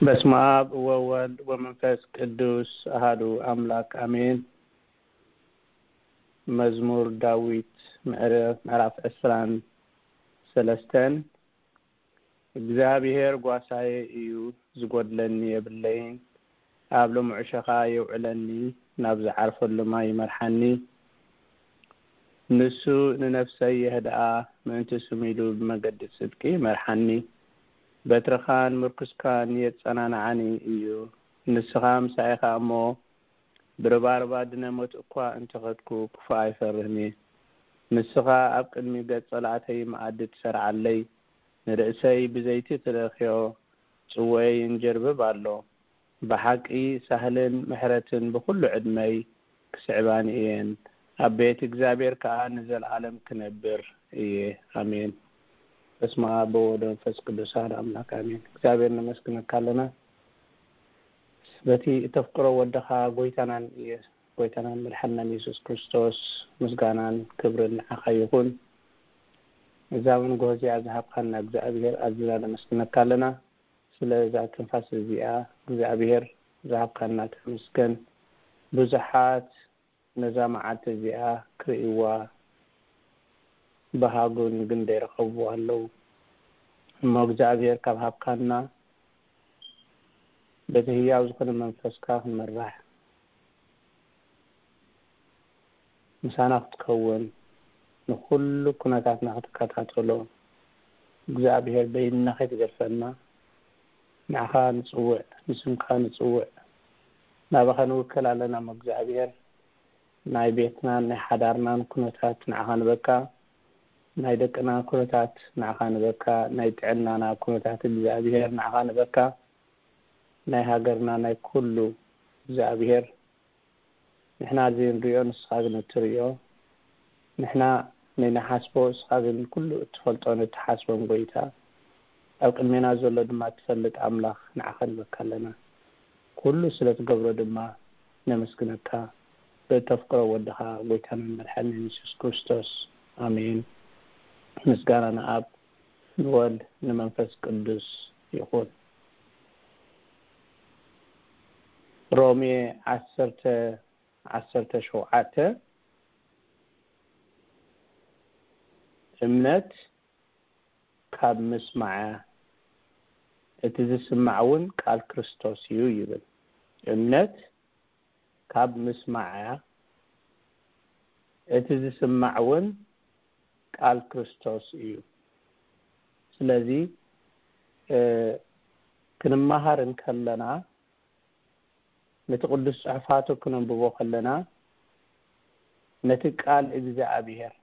በስመ አብ ወወልድ ወመንፈስ ቅዱስ አሃዱ አምላክ አሜን። መዝሙር ዳዊት ምዕረ-፣ ምዕራፍ ዕስራን ሰለስተን። እግዚኣብሔር ጓሳዬ እዩ፣ ዝጎድለኒ የብለይን። ኣብ ልሙዕ ሸኻ የውዕለኒ፣ ናብ ዝዓርፈሉ ማይ ይመርሓኒ። ንሱ ንነፍሰይ የህድኣ፣ ምእንቲ ስሙ ኢሉ ብመገዲ ጽድቂ ይመርሓኒ። በትርኻን ምርኩስካን የጸናንዓኒ እዩ። ንስኻ ምሳይ ኢኻ እሞ፣ ብርባርባ ድነ ሞት እኳ እንተኸድኩ፣ ክፉእ ኣይፈርህን እየ። ንስኻ ኣብ ቅድሚ ገጽ ጸላእተይ መኣዲ ትሰርዓለይ። ንርእሰይ ብዘይቲ ትለኽዮ፣ ጽዋየይ ይንጀርብብ ኣሎ። ብሓቂ ሳህልን ምሕረትን ብኹሉ ዕድመይ ክስዕባኒ እየን። ኣብ ቤት እግዚኣብሔር ከኣ ንዘለኣለም ክነብር እየ። ኣሜን። በስመ አብ ወወልድ ወመንፈስ ቅዱስ አሐዱ አምላክ አሜን። እግዚኣብሔር ነመስግነካ ኣለና። በቲ እተፍቅሮ ወድኻ ጎይታናን ኢየ-፣ ጎይታናን መድሓንናን የሱስ ክርስቶስ ምስጋናን ክብርን ንዓኻ ይኹን። እዛ መንጎ እዚኣ ዝሃብካና እግዚኣብሔር ኣዚና ነመስግነካ ኣለና። ስለ እዛ ትንፋስ እዚኣ እግዚኣብሔር ዝሃብካና ተመስገን። ብዙሓት ነዛ መዓልቲ እዚኣ ክርእይዋ ብሃጉን ግን ዘይረኸብዋ ኣለዉ። እሞ እግዚኣብሔር ካብ ሃብካና በቲ ህያው ዝኾነ መንፈስካ ክንመራሕ ምሳና ክትከውን ንኹሉ ኩነታትና ክትከታተሎ እግዚኣብሔር በይንና ከይትገድፈና ንዓኻ ንጽውዕ፣ ንስምካ ንጽውዕ። ናባኻ ንውከል ኣለና እሞ እግዚኣብሔር ናይ ቤትናን ናይ ሓዳርናን ኩነታት ንዓኻ ንበካ፣ ናይ ደቅና ኩነታት ንዓኻ ንበካ፣ ናይ ጥዕናና ኩነታት እግዚኣብሔር ንዓኻ ንበካ፣ ናይ ሃገርና ናይ ኩሉ እግዚኣብሔር ንሕና ዘይንሪኦ ንስኻ ግን እትሪኦ፣ ንሕና ንንሓስቦ ንስኻ ግን ኩሉ እትፈልጦን እትሓስቦን ጎይታ፣ ኣብ ቅድሜና ዘሎ ድማ እትፈልጥ ኣምላኽ ንዓኻ ንበካ ኣለና። ኩሉ ስለ ትገብሮ ድማ ነመስግነካ። በተፍቅሮ ወድኻ ጎይታናን መድሓኒን የሱስ ክርስቶስ ኣሜን። ምስጋና ንኣብ ንወልድ ንመንፈስ ቅዱስ ይኹን። ሮሜ ዓሰርተ ዓሰርተ ሸውዓተ እምነት ካብ ምስማዕ እያ፣ እቲ ዝስማዕ እውን ቃል ክርስቶስ እዩ ይብል። እምነት ካብ ምስማዕ እያ፣ እቲ ዝስማዕ እውን ቃል ክርስቶስ እዩ። ስለዚ እ፣ ክንመሃር እንከለና ነቲ ቅዱስ ጽሑፋቱ ክነንብቦ ከለና ነቲ ቃል እግዚኣብሔር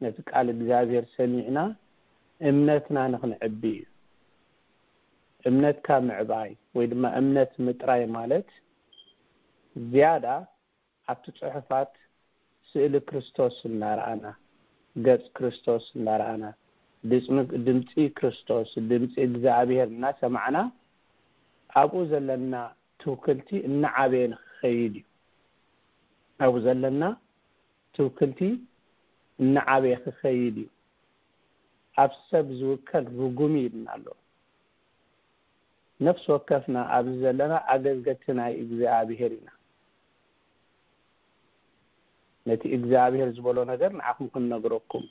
ነቲ ቃል እግዚኣብሔር ሰሚዕና እምነትና ንኽንዕቢ እዩ። እምነትካ ምዕባይ ወይ ድማ እምነት ምጥራይ ማለት ዝያዳ ኣብቲ ጽሑፋት ስእሊ ክርስቶስ እናረኣና፣ ገጽ ክርስቶስ እናረኣና፣ ድጽሚ-፣ ድምጺ ክርስቶስ፣ ድምጺ እግዚኣብሔር እናሰማዕና ኣብኡ ዘለና ትውክልቲ እናዓበየ ንኽኸይድ እዩ። ኣብኡ ዘለና ትውክልቲ እናዓበየ ክኸይድ እዩ። ኣብ ሰብ ዝውከል ርጉም እዩ ኢልና ኣሎ። ነፍሲ ወከፍና ኣብዚ ዘለና ኣገልገልቲ ናይ እግዚኣብሔር ኢና። ነቲ እግዚኣብሔር ዝበሎ ነገር ንዓኹም ክንነግረኩም።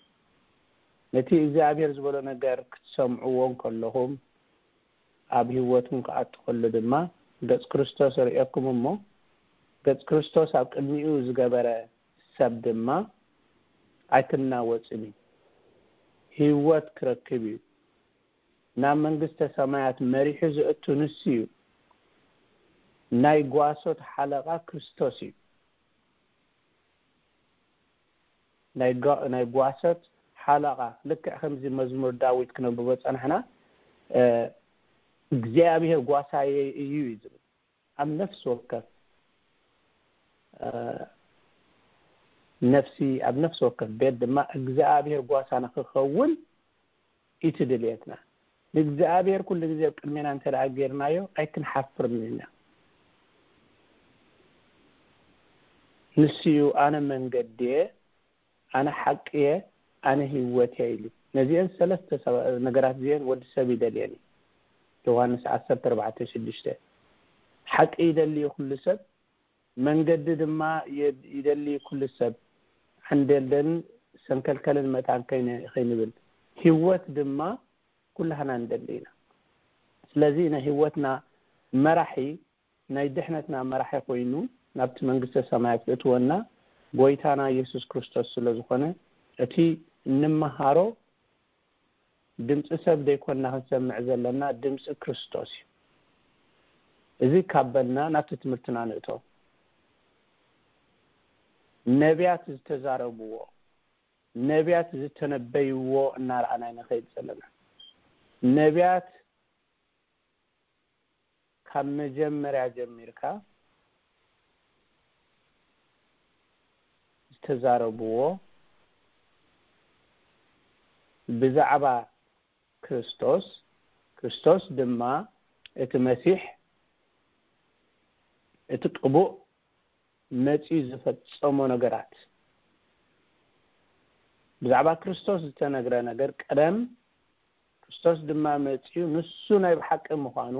ነቲ እግዚኣብሔር ዝበሎ ነገር ክትሰምዕዎ እንከለኹም ኣብ ህይወትኩም ክኣቱ ከሎ ድማ ገጽ ክርስቶስ ርእየኩም እሞ ገጽ ክርስቶስ ኣብ ቅድሚኡ ዝገበረ ሰብ ድማ ኣይክናወጽን እዩ። ህይወት ክረክብ እዩ። ናብ መንግስተ ሰማያት መሪሑ ዘእቱ ንሱ እዩ። ናይ ጓሶት ሓለቓ ክርስቶስ እዩ። ናይ ጓ-፣ ናይ ጓሶት ሓለቓ፣ ልክዕ ከምዚ መዝሙር ዳዊት ክነብቦ ጸናሕና፣ እ፣ እግዚኣብሔር ጓሳየ እዩ እዩ ዝብል። ኣብ ነፍሲ ወከፍ፣ እ፣ ነፍሲ፣ ኣብ ነፍሲ ወከፍ ቤት ድማ እግዚኣብሔር ጓሳ ንኽኸውን እዩ እቲ ድልየትና። ንእግዚኣብሔር ኩሉ ግዜ ኣብ ቅድሜና እንተ ደኣ ጌርናዮ፣ ኣይክንሓፍርን ኢና። ንሱ እዩ፣ "ኣነ መንገዲ እየ፣ ኣነ ሓቂ እየ፣ ኣነ ህይወት እየ" ኢሉ። ነዚአን ሰለስተ ሰባ-፣ ነገራት እዚአን ወዲ ሰብ ይደልየን እዩ። ዮሃንስ ዓሰርተ ኣርባዕተ ሽዱሽተ። ሓቂ ይደሊ ኩሉ ሰብ፣ መንገዲ ድማ ይደሊ ኩሉ ሰብ፣ ዓንደልደልን ሰንከልከልን መታን ከይንብል፣ ህይወት ድማ ኩላህና ንደሊ ኢና። ስለዚ ናይ ህይወትና መራሒ፣ ናይ ድሕነትና መራሒ ኮይኑ ናብቲ መንግስተ ሰማያት ዝእትወና ጎይታና ኢየሱስ ክርስቶስ ስለ ዝኾነ፣ እቲ እንመሃሮ ድምፂ ሰብ ዘይኮንና ክንሰምዕ ዘለና፣ ድምፂ ክርስቶስ እዩ። እዚ ካብ በልና ናብቲ ትምህርትና ንእቶ። ነቢያት ዝተዛረብዎ፣ ነቢያት ዝተነበይዎ እናረኣና ንኸይድ ዘለና። ነቢያት ካብ መጀመርያ ጀሚርካ ዝተዛረብዎ ብዛዕባ ክርስቶስ፣ ክርስቶስ ድማ እቲ መሲሕ፣ እቲ ቅቡእ፣ መጺኡ ዝፈጸሞ ነገራት፣ ብዛዕባ ክርስቶስ ዝተነግረ ነገር ቀደም፣ ክርስቶስ ድማ መጺኡ ንሱ ናይ ብሓቂ ምዃኑ፣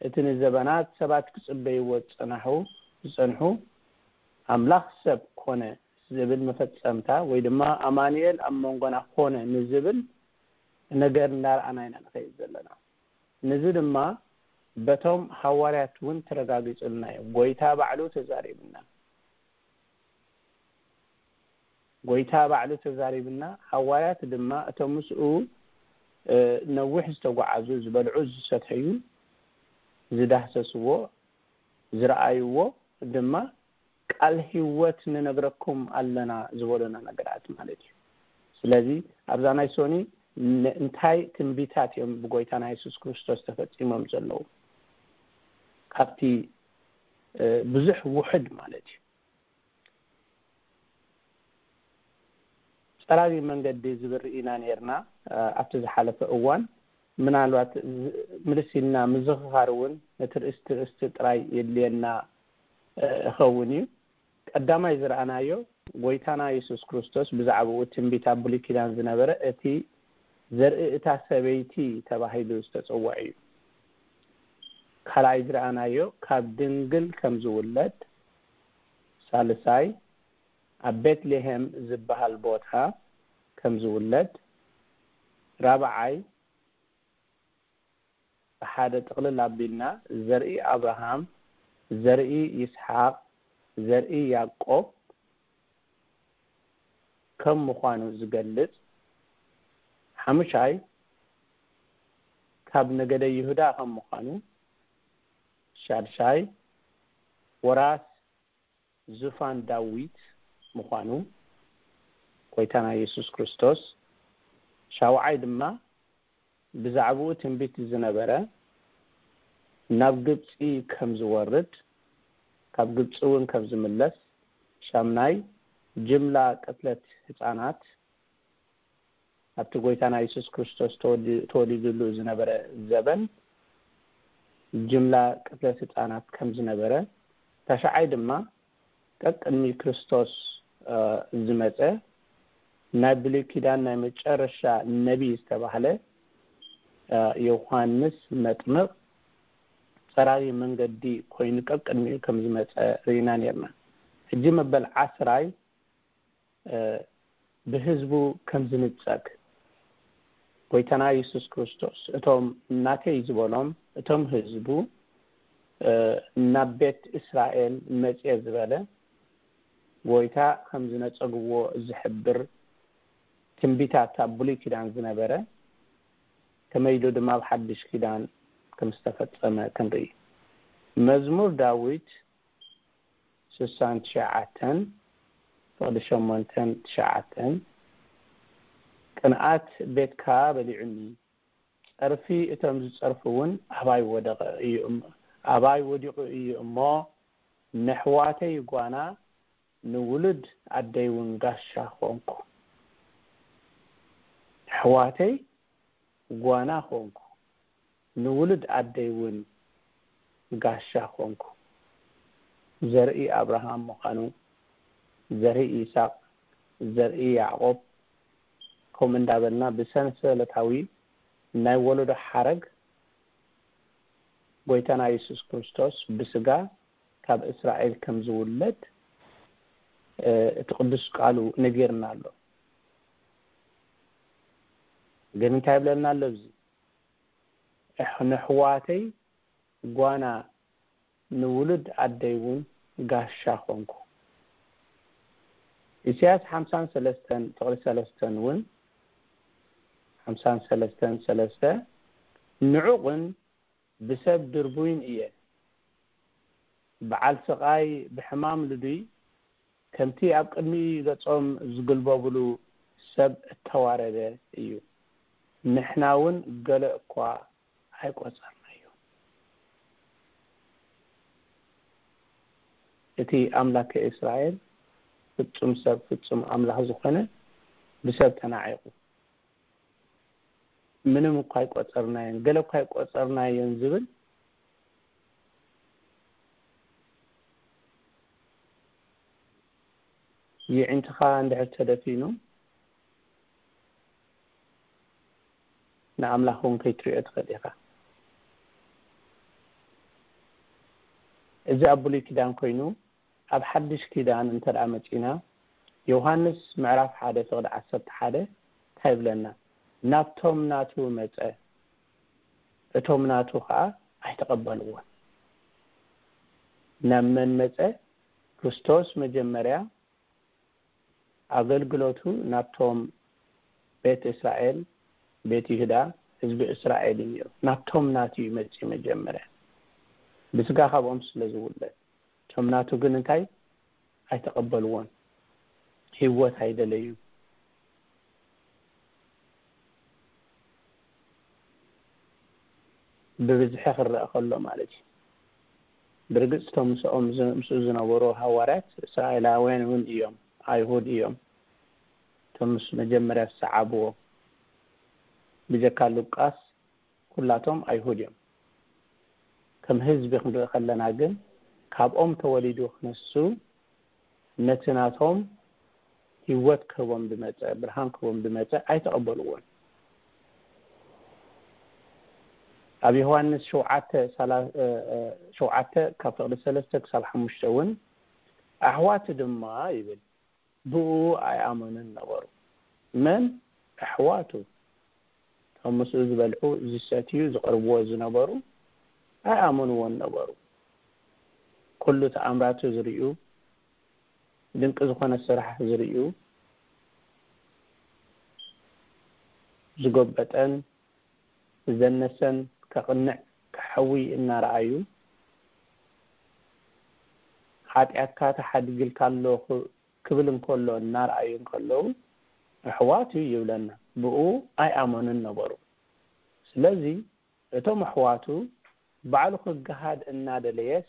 እቲ ንዘበናት ሰባት ክጽበይዎ ዝጸናሑ፣ ዝጸንሑ፣ ኣምላኽ ሰብ ኮነ ዝብል መፈጸምታ፣ ወይ ድማ ኣማኑኤል ኣብ መንጎና ኮነ ንዝብል ነገር እንዳረኣና ኢና ንኸይድ ዘለና። ነዚ ድማ በቶም ሃዋርያት እውን ተረጋጊጹልና እዩ። ጎይታ ባዕሉ ተዛሪብና። ጎይታ ባዕሉ ተዛሪብና። ሃዋርያት ድማ እቶም ምስኡ፣ እ፣ ነዊሕ ዝተጓዓዙ፣ ዝበልዑ፣ ዝሰተዩ፣ ዝዳህሰስዎ፣ ዝረኣይዎ ድማ ቃል ህይወት ንነግረኩም ኣለና ዝበሉና ነገራት ማለት እዩ። ስለዚ ኣብዛ ናይ ሶኒ ን-፣ እንታይ ትንቢታት እዮም ብጎይታና የሱስ ክርስቶስ ተፈጺሞም ዘለዉ? ካብቲ፣ እ፣ ብዙሕ ውሑድ ማለት እዩ። ጸራቢ መንገዲ ዝብል ርኢና ነይርና፣ እ፣ ኣብቲ ዝሓለፈ እዋን። ምናልባት ዝ-፣ ምልስ ኢልና ምዝኽኻር እውን ነቲ ርእስቲ ርእስቲ ጥራይ የድልየና፣ እ፣ እኸውን እዩ። ቀዳማይ ዝረኣናዮ፣ ጎይታና የሱስ ክርስቶስ ብዛዕባኡ ትንቢት ኣብ ብሉይ ኪዳን ዝነበረ፣ እቲ ዘርኢ እታ ሰበይቲ ተባሂሉ ዝተጸውዐ እዩ። ካልኣይ ዝረኣናዮ፣ ካብ ድንግል ከም ዝውለድ፣ ሳልሳይ፣ ኣብ ቤትልሄም ዝበሃል ቦታ ከም ዝውለድ፣ ራብዓይ፣ ብሓደ ጥቕልል ኣቢልና፣ ዘርኢ ኣብርሃም፣ ዘርኢ ይስሓቅ፣ ዘርኢ ያዕቆብ ከም ምዃኑ ዝገልጽ፣ ሓሙሻይ፣ ካብ ነገደ ይሁዳ ከም ምዃኑ፣ ሻድሻይ፣ ወራስ ዙፋን ዳዊት ምዃኑ፣ ጎይታና የሱስ ክርስቶስ፣ ሻውዓይ ድማ ብዛዕባኡ ትንቢት ዝነበረ፣ ናብ ግብጺ ከም ዝወርድ፣ ካብ ግብጺ እውን ከም ዝምለስ፣ ሻምናይ፣ ጅምላ ቅትለት ህጻናት፣ ኣብቲ ጎይታና የሱስ ክርስቶስ ተወዲ-፣ ተወሊዱሉ ዝነበረ ዘበን ጅምላ ቅትለት ህጻናት ከም ዝነበረ፣ ታሽዓይ ድማ ቀቅድሚ ክርስቶስ፣ እ፣ ዝመጸ ናይ ብሉይ ኪዳን ናይ መጨረሻ ነቢይ ዝተባህለ፣ እ፣ ዮሃንስ መጥምቕ ጸራቢ መንገዲ ኮይኑ ቀቅድሚኡ ከም ዝመጸ ርኢና ነርና። ሕጂ መበል ዓስራይ፣ እ፣ ብህዝቡ ከም ዝንጸግ፣ ጎይታና የሱስ ክርስቶስ፣ እቶም ናተይ ዝበሎም፣ እቶም ህዝቡ፣ እ፣ ናብ ቤት እስራኤል መጽየ ዝበለ፣ ጎይታ ከም ዝነጸግዎ ዝሕብር ትንቢታት ኣብ ብሉይ ኪዳን ዝነበረ፣ ከመይ ኢሉ ድማ ኣብ ሓድሽ ኪዳን ከም ዝተፈጸመ ክንርኢ። መዝሙር ዳዊት ስሳን ትሽዓተን፣ ፍቕዲ ሸሞንተን ትሽዓተን፣ ቅንኣት ቤትካ በሊዑኒ፣ ጸርፊ እቶም ዝጸርፉ እውን ኣባይ ወደቐ እዩ እሞ፣ ኣባይ ወዲቑ እዩ እሞ፣ ነሕዋተይ ጓና፣ ንውሉድ ኣደይ እውን ጋሻ ኾንኩ። ነሕዋተይ ጓና ኾንኩ፣ ንውሉድ ኣደይ እውን ጋሻ ኾንኩ። ዘርኢ ኣብርሃም ምዃኑ፣ ዘርኢ ይስሐቅ፣ ዘርኢ ያዕቆብ፣ ከምኡ እንዳበልና ብሰንሰለታዊ ናይ ወለዶ ሓረግ ጎይታና የሱስ ክርስቶስ ብስጋ ካብ እስራኤል ከም ዝውለድ እቲ ቅዱስ ቃሉ ነጊርና ኣሎ። ግን እንታይ ይብለና ኣሎ ኣብዚ? ንሕዋተይ ጓና፣ ንውሉድ ኣደይ እውን ጋሻ ኾንኩ። ኢሳያስ ሓምሳን ሰለስተን ፍቕዲ ሰለስተን እውን ሓምሳን ሰለስተን ሰለስተ ንዑቕን ብሰብ ድርቡይን እየ፣ በዓል ስቓይ ብሕማም ልዱይ፣ ከምቲ ኣብ ቅድሚ ገጾም ዝግልበብሉ ሰብ እተዋረደ እዩ። ንሕና እውን ገለ እኳ ኣይቆጸርናዮ። እቲ ኣምላከ እስራኤል ፍጹም ሰብ ፍጹም ኣምላኽ ዝኾነ ብሰብ ተናዒቑ። ምንም እኳ ኣይቆጸርናዮን፣ ገለ እኳ ኣይቆጸርናዮን ዝብል የዒንትኻ እንድሕር ተደፊኑ ንኣምላኽ እውን ከይትሪኦ ትኽእል ኢኻ። እዚ ኣብ ብሉይ ኪዳን ኮይኑ ኣብ ሓድሽ ኪዳን እንተ ደኣ መጺና ዮሃንስ ምዕራፍ ሓደ ፍቕዲ ዓሰርተ ሓደ እንታይ ይብለና? ናብቶም ናቱ መጸ፣ እቶም ናቱ ኸኣ ኣይተቐበልዎን። ናብ መን መጸ? ክርስቶስ መጀመርያ ኣገልግሎቱ ናብቶም ቤት እስራኤል፣ ቤት ይሁዳ፣ ህዝቢ እስራኤል እዩ ነይሩ። ናብቶም ናቱ እዩ መጺኡ መጀመርያ ብስጋ ካብኦም ስለ ዝውለድ። እቶም ናቱ ግን እንታይ ኣይተቐበልዎን፣ ህይወት ኣይደለዩ። ብብዝሒ ክረአ ከሎ ማለት እዩ። ብርግጽ እቶም ምስኦም ዝ- ምስኡ ዝነበሩ ሃዋርያት እስራኤላውያን እውን እዮም፣ ኣይሁድ እዮም። እቶም ምስ መጀመርያ ዝሰዓብዎ ብጀካ ሉቃስ ኩላቶም ኣይሁድ እዮም። ከም ህዝቢ ክንርኢ ከለና ግን ካብኦም ተወሊዱ ክንሱ ነቲ ናቶም ህይወት ክህቦም ዝመጸ፣ ብርሃን ክህቦም ዝመጸ ኣይተቐበልዎን። ኣብ ዮሃንስ ሸውዓተ ሰላ- እ- እ- ሸውዓተ ካብ ፍቕዲ ሰለስተ ክሳብ ሓሙሽተ እውን ኣሕዋቱ ድማ ይብል ብኡ ኣይኣመኑን ነበሩ። መን? ኣሕዋቱ። እቶም ምስኡ ዝበልዑ፣ ዝሰትዩ፣ ዝቐርብዎ ዝነበሩ ኣይኣመንዎን ነበሩ። ኩሉ ተኣምራቱ ዝርእዩ፣ ድንቂ ዝኾነ ስራሕ ዝርእዩ፣ ዝጎበጠን ዝደነሰን ከቕንዕ ከሕዊ እናረኣዩ፣ ሓጢኣትካ ተሓዲግልካ ኣሎ ክብል እንከሎ እናረኣዩ እንከለዉ ኣሕዋት እዩ ይብለና። ብኡ ኣይኣመኑን ነበሩ። ስለዚ እቶም ኣሕዋቱ ባዕሉ ክገሃድ እናደለየስ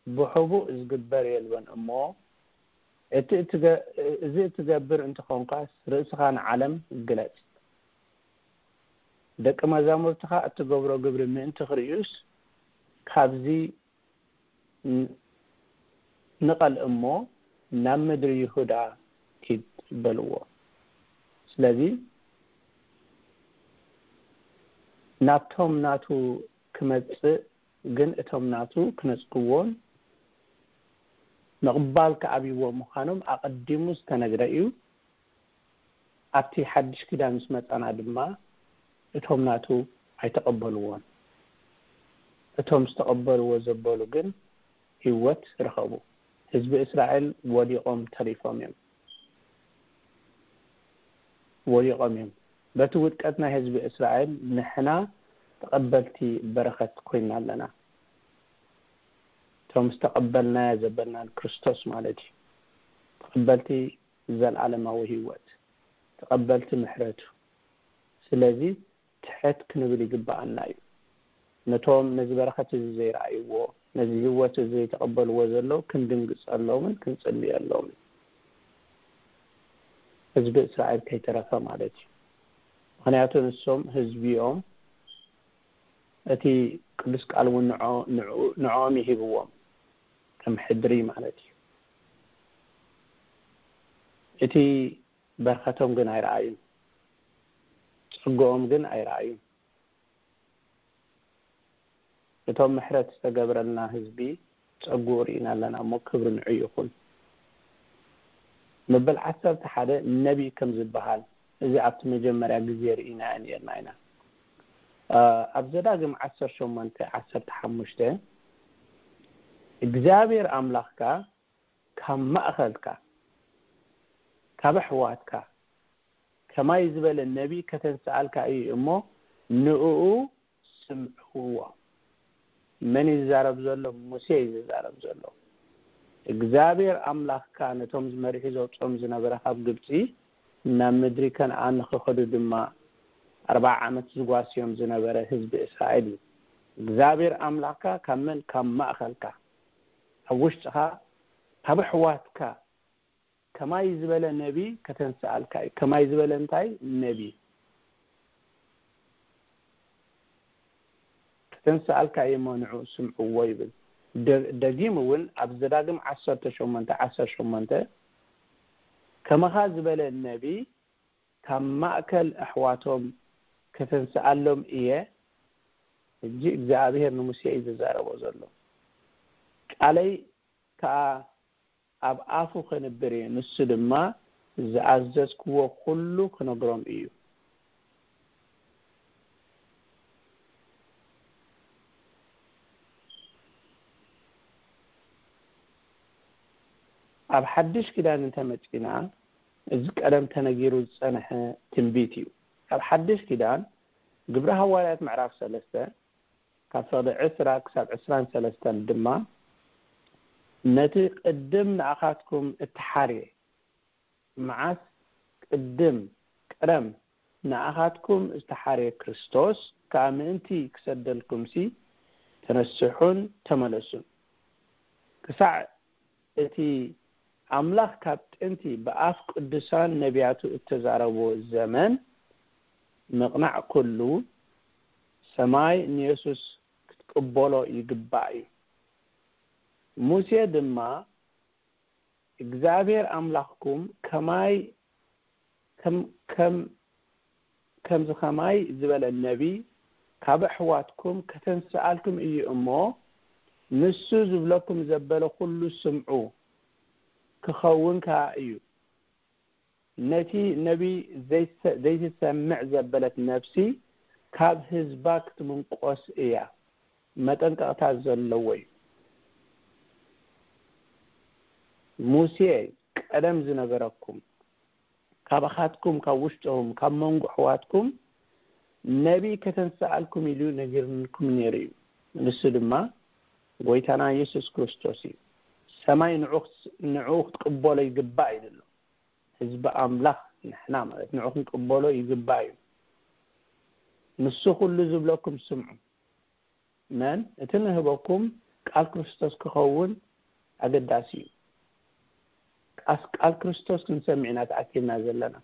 ብሕቡእ ዝግበር የልቦን እሞ እቲ እትገ- እዚ እትገብር እንተኾንካስ ርእስኻ ንዓለም ግለጽ። ደቂ መዛሙርትኻ እትገብሮ ግብሪ ምእንቲ ክርእዩስ ካብዚ ን- ንቐል እሞ ናብ ምድሪ ይሁዳ ኪድ በልዎ። ስለዚ ናብቶም ናቱ ክመጽእ ግን እቶም ናቱ ክነጽግዎን ምቕባል ክኣብይዎ ምዃኖም ኣቐዲሙ ዝተነግረ እዩ። ኣብቲ ሓድሽ ኪዳን ምስ መጻና ድማ እቶም ናቱ ኣይተቐበልዎን። እቶም ዝተቐበልዎ ዘበሉ ግን ህይወት ረኸቡ። ህዝቢ እስራኤል ወዲቖም ተሪፎም እዮም። ወዲቖም እዮም። በቲ ውድቀት ናይ ህዝቢ እስራኤል ንሕና ተቐበልቲ በረኸት ኮይና ኣለና። እቶም ዝተቐበልናዮ ዘበልና ንክርስቶስ ማለት እዩ። ተቐበልቲ ዘለኣለማዊ ህይወት፣ ተቐበልቲ ምሕረቱ። ስለዚ ትሕት ክንብል ይግብኣና እዩ። ነቶም ነዚ በረኸት እዚ ዘይረኣይዎ፣ ነዚ ህይወት እዚ ዘይተቐበልዎ ዘለዉ ክንድንግጸሎምን ክንጽልየሎምን። ህዝቢ እስራኤል ከይተረፈ ማለት እዩ። ምኽንያቱ ንሶም ህዝቢ እዮም። እቲ ቅዱስ ቃል እውን ንዖ- ንዑ- ንዕኦም ይሂብዎም ከም ሕድሪ ማለት እዩ። እቲ በረኸቶም ግን ኣይረኣዩን፣ ጸግኦም ግን ኣይረኣዩን። እቶም ምሕረት ዝተገብረልና ህዝቢ ጸጉኡ ርኢና ኣለና እሞ ክብሪ ንዑ ይኹን። መበል ዓሰርተ ሓደ ነቢይ ከም ዝበሃል እዚ ኣብቲ መጀመርያ ግዜ ርኢናዮ ነርና ኢና። ኣብ ዘዳግም ዓሰርተ ሸሞንተ ዓሰርተ ሓሙሽተ እግዚኣብሔር ኣምላኽካ ካብ ማእኸልካ ካብ ኣሕዋትካ ከማይ ዝበለ ነቢይ ከተንስኣልካ እዩ እሞ ንእኡ ስምዕዎ። መን እዩ ዝዛረብ ዘሎ? ሙሴ እዩ ዝዛረብ ዘሎ። እግዚኣብሔር ኣምላኽካ ነቶም ዝመሪሑ ዘውፅኦም ዝነበረ ካብ ግብፂ ናብ ምድሪ ከነኣን ንኽኸዱ ድማ ኣርባዓ ዓመት ዝጓስዮም ዝነበረ ህዝቢ እስራኤል እዩ። እግዚኣብሔር ኣምላኽካ ካብ መን? ካብ ማእኸልካ፣ ኣብ ውሽጥኻ፣ ካብ ኣሕዋትካ ከማይ ዝበለ ነቢ ከተንስኣልካ እዩ። ከማይ ዝበለ እንታይ ነቢ ከተንስኣልካ እዩ እሞ ንዑ ስምዕዎ ይብል። ደ- ደጊም እውን ኣብ ዘዳግም ዓሰርተ ሸሞንተ ዓሰርተ ሸሞንተ ከመኻ ዝበለ ነቢ ካብ ማእከል ኣሕዋቶም ከተንስኣሎም እየ። ሕጂ እግዚኣብሔር ንሙሴ እዩ ዝዛረቦ ዘሎ። ቃለይ ከኣ ኣብ ኣፉ ከንብር እየ፣ ንሱ ድማ ዝኣዘዝክዎ ኩሉ ክነግሮም እዩ። ኣብ ሓድሽ ኪዳን እንተመጺና፣ እዚ ቀደም ተነጊሩ ዝጸንሐ ትንቢት እዩ። ኣብ ሓድሽ ኪዳን ግብሪ ሃዋርያት ምዕራፍ ሰለስተ ካብ ፈቕዲ ዕስራ ክሳብ ዕስራን ሰለስተን ድማ፣ ነቲ ቅድም ንኣኻትኩም እተሓርየ፣ መዓስ ቅድም ቀደም ንኣኻትኩም ዝተሓርየ ክርስቶስ ከኣ ምእንቲ ክሰደልኩምሲ፣ ተነስሑን ተመለሱን። ክሳዕ እቲ ኣምላኽ ካብ ጥንቲ ብኣፍ ቅዱሳን ነቢያቱ እተዛረቦ ዘመን ምቕናዕ ኩሉ፣ ሰማይ ንየሱስ ክትቅበሎ ይግባእ እዩ። ሙሴ ድማ፣ እግዚኣብሔር ኣምላኽኩም ከማይ ከም ከም ከምዚ ኸማይ ዝበለ ነቢይ ካብ ኣሕዋትኩም ከተንስኣልኩም እዩ እሞ፣ ንሱ ዝብለኩም ዘበለ ኹሉ ስምዑ፣ ክኸውን ከኣ እዩ። ነቲ ነቢይ ዘይሰ- ዘይትሰምዕ ዘበለት ነፍሲ ካብ ህዝባ ክትምንቆስ እያ። መጠንቀቕታ ዘለዎ እዩ። ሙሴ ቀደም ዝነገረኩም፣ ካባኻትኩም፣ ካብ ውሽጥኹም፣ ካብ መንጎ ኣሕዋትኩም ነቢይ ከተንስኣልኩም ኢሉ ነጊርኩም ነይሩ እዩ። ንሱ ድማ ጎይታና የሱስ ክርስቶስ እዩ። ሰማይ ንዑ ንዑ ክትቅበሎ ይግባእ ኢሉ ኣሎ። ህዝቢ ኣምላኽ ንሕና ማለት ንዑ ክንቅበሎ ይግባእ እዩ። ንሱ ኩሉ ዝብለኩም ስምዑ። መን እቲ ንህበኩም ቃል ክርስቶስ ክኸውን ኣገዳሲ እዩ። ቃስ ቃል ክርስቶስ ክንሰምዕ ኢና ተኣኪብና ዘለና።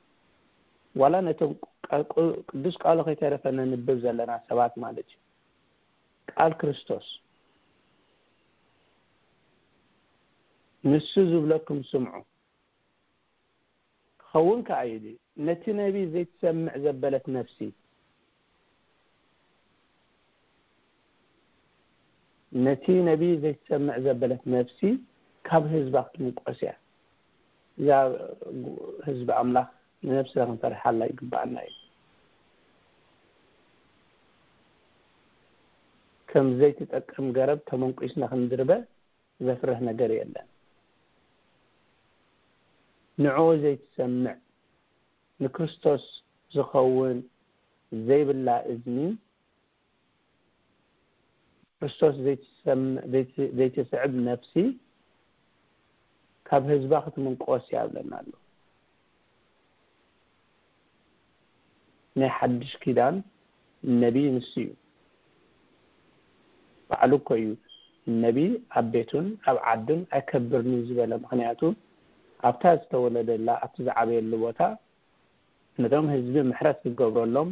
ዋላ ነቶም ቃ- ቁ- ቅዱስ ቃሉ ከይተረፈ ነንብብ ዘለና ሰባት ማለት እዩ። ቃል ክርስቶስ ንሱ ዝብለኩም ስምዑ። ክኸውን ከኣ ኢሉ ነቲ ነቢ ዘይትሰምዕ ዘበለት ነፍሲ ነቲ ነቢ ዘይትሰምዕ ዘበለት ነፍሲ ካብ ህዝባ ክትምቆስ እያ። እዛ ህዝቢ ኣምላኽ ንነብስና ክንፈርሓላ ይግባኣና እዩ። ከም ዘይትጠቅም ገረብ ተመንቂስና ክንድርበ ዘፍርህ ነገር የለን። ንዕኡ ዘይትሰምዕ ንክርስቶስ ዝኸውን ዘይብላ እዝኒ፣ ክርስቶስ ዘይትሰም- ዘይት- ዘይትስዕብ ነፍሲ ካብ ህዝባ ክትምንቆስ እያ ብለና ኣሎ። ናይ ሓድሽ ኪዳን ነቢይ ንሱ እዩ። ባዕሉ እኮ እዩ ነቢይ ኣብ ቤቱን ኣብ ዓዱን ኣይከብርን እዩ ዝበለ። ምኽንያቱ ኣብታ ዝተወለደላ ኣብቲ ዝዓበየሉ ቦታ ነቶም ህዝቢ ምሕረት ክገብረሎም